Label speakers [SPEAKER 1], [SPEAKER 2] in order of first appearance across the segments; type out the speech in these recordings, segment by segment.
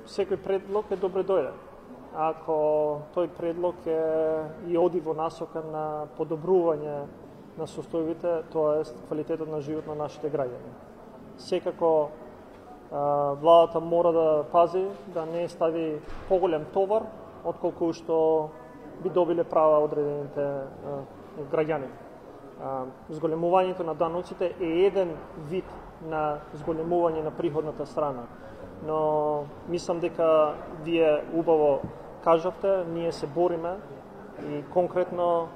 [SPEAKER 1] секој предлог е добре дојде. Ако тој предлог и оди во насока на подобрување на состојбите, тоа е квалитетот на живот на нашите граѓани. Секако владата мора да пази да не стави поголем товар отколку што би добиле права одредените граѓани. Зголемувањето на даноците е еден вид на зголемување на приходната страна, но мислам дека вие убаво кажавте, ние се бориме и конкретно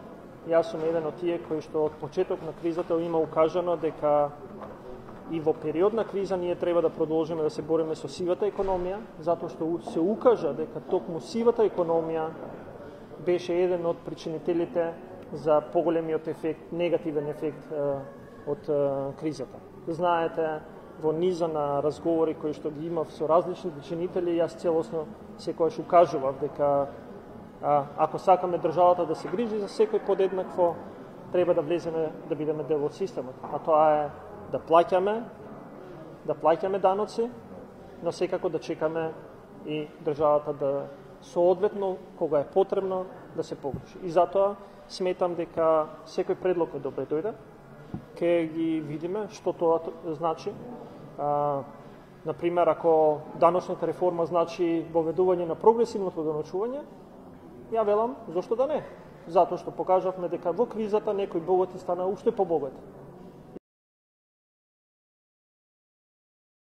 [SPEAKER 1] јас сум еден од тие кои што од почеток на кризата има укажано дека и во период на криза ние треба да продолжиме да се бориме со сивата економија, затоа што се укажа дека токму сивата економија беше еден од причинителите за поголемиот ефект, негативен ефект од кризата. Знаете, во низа на разговори кои што ги имав со различни чинители, јас целосно секојаш укажував дека ако сакаме државата да се грижи за секој подеднакво, треба да влеземе да бидеме дел од системот. А тоа е да плаќаме даноци, но секако да чекаме и државата да соодветно, кога е потребно, да се погрижи. И затоа сметам дека секој предлог е добре дојде, ке ги видиме што тоа значи. Например, ако даночната реформа значи воведување на прогресивното даночување, ја велам, зошто да не? Затоа што покажавме дека во кризата некои богати стана уште побогати.